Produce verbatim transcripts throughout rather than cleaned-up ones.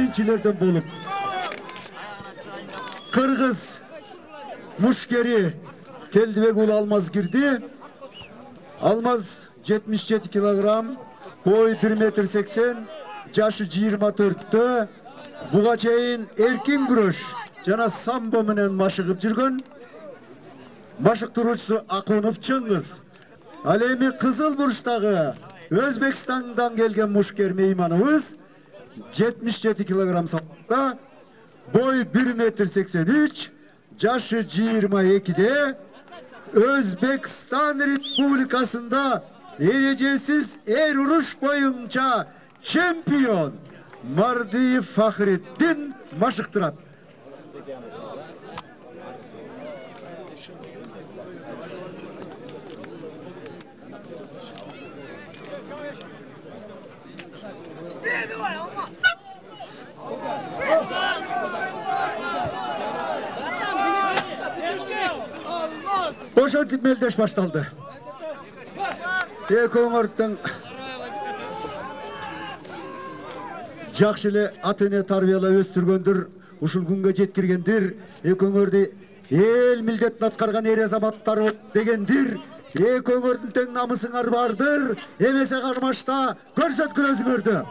биринчилерден болуп Кыргыз мушкери Келдибек уулу Алмаз кирди. Алмаз жетимиш жети килограмм, бою бир метр сексен, жашы жыйырма төрттө. Буга чейин эркин күрөш жана самбо менен машыгып жүргөн. Машыктыруучусу Акунов Чыңгыз. Ал эми кызыл бурчтагы Өзбекстандан келген мушкер мейманыбыз жетимиш жети килограмм салмакта, бою бир метр сексен үч, жашы жыйырма экиде. Өзбекстан Республикасында эрежесиз эр уруш боюнча чемпион Мардиев Фахриддин машыктырат. Ошентип мелдеш башталды. Эки өңөрдүн жакшы эле ата эне тарбиялап өстүргөндүр, ушул күнгө жеткиргендир. Эки өңөрдү эл милдетин аткарган эр азаматтар дегендир. Эки өңөрдүн тең намысыңар бардыр. Эмесе кармашта көрсөткүл өзүңөрдү.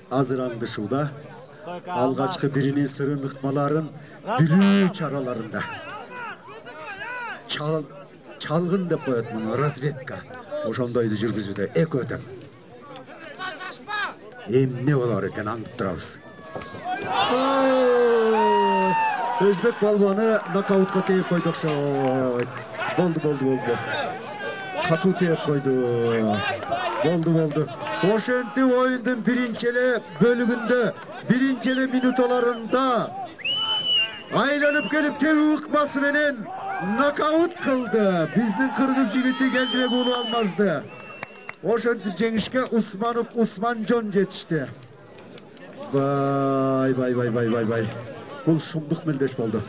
Азыр аңдышууда алгачкы биринин сырын ыкмаларын билүү чараларында чалгын деп коет муну разведка. Ошондойду жүргүзүүдө экөө тең. Эмне болор экен аңдып турабыз. Өзбек балбаны нокаутка тээп койду окшойт. Болду, болду, болду. Катуу тээп койду. Болду, болду. Ошентип оюндун биринчи эле бөлүгүндө, биринчи эле минуталарында айланып келип тебүү ыкмасы менен нокаут кылды. Биздин кыргыз жигити Келдибек уулу Алмазды. Ошентип жеңишке Усманов Усманжон жетишти. Бай, бай, бай, бай, бай, бай. Бул шумдук мелдеш болду.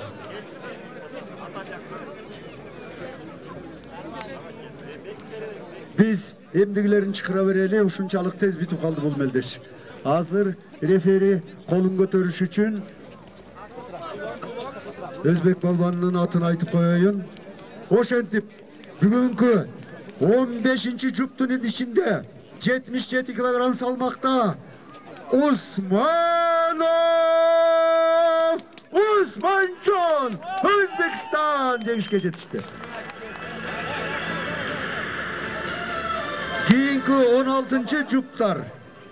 Биз эмдигилерин чыгыра берели, ушунчалык тез бүтүп калды бул мелдеш. Азыр рефери колун көтөрүш үчүн Өзбек балбанынын атын айтып коеюн. Ошентип бүгүнкү он бешинчи жуптун ичинде жетимиш жети килограмм салмакта Усманов Усманжон Өзбекстан жеңишке жетишти. Кийинки он алтынчы жуптар